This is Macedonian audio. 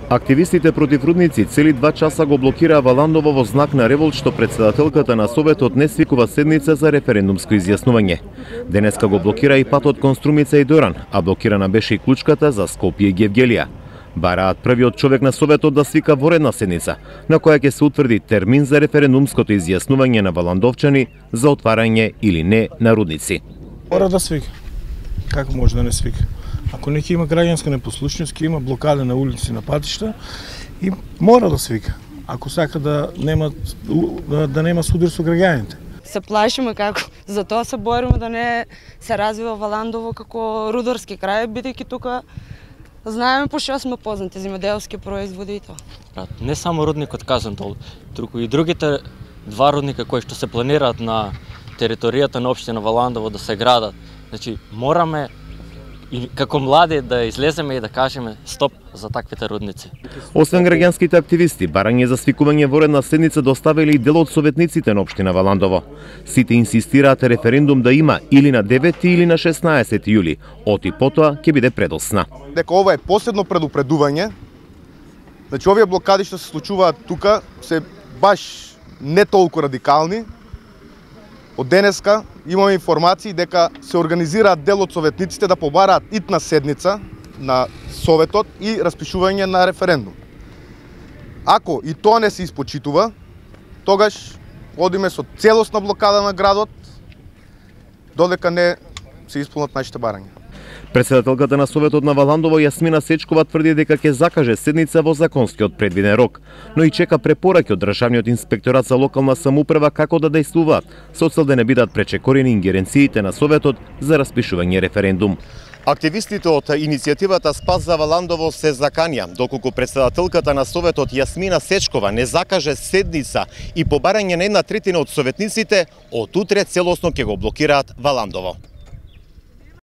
Активистите против рудници цели 2 часа го блокираа Валандово во знак на револт што претседателката на Советот не свикува седница за референдумско изјаснување. Денеска го блокира и патот кон Струмица и Доран, а блокирана беше и клучката за Скопје и Гевгелија. Бараат првиот човек на Советот да свика воредна седница, на која ќе се утврди термин за референдумското изјаснување на валандовчани за отварање или не на рудници. Мора да свика. Како може да не свика? Ако неќе има граѓанска непослушност, ќе има блокада на улици, на патишта и мора да свика. Ако сака да нема судар со граѓаните. Се плашиме како, затоа се бориме да не се развива Валандово како рударски крај, бидејќи тука знаеме по што сме познати земјоделски производи и тоа. Не само рудникот Казантол, туку и другите 2 рудника кои што се планираат на територијата на општина Валандово да се градат. Значи мораме и како млади да излеземе и да кажеме стоп за таквите рудници. Освен граѓанските активисти, барање за свикување воредна седница доставили и дел од советниците на општина Валандово. Сите инсистираат референдум да има или на 9 или на 16 јули, оти потоа ќе биде предосна. Дека ова е последно предупредување. Значи овие блокади што се случуваат тука се баш не толку радикални. Од денеска имаме информации дека се организираат дел од советниците да побараат итна седница на Советот и распишување на референдум. Ако и тоа не се испочитува, тогаш одиме со целосна блокада на градот, додека не се исполнат нашите барања. Претседателката на Советот на Валандово Јасмина Сечкова тврди дека ќе закаже седница во законскиот предвиден рок, но и чека препораки од Државниот инспекторат за локална самоуправа како да действуваат, со цел да не бидат пречекорени ингеренциите на Советот за распишување референдум. Активистите од иницијативата Спас за Валандово се заканија, доколку претседателката на Советот Јасмина Сечкова не закаже седница и побарање на 1/3 од советниците, од утре целосно ќе го блокираат Валандово.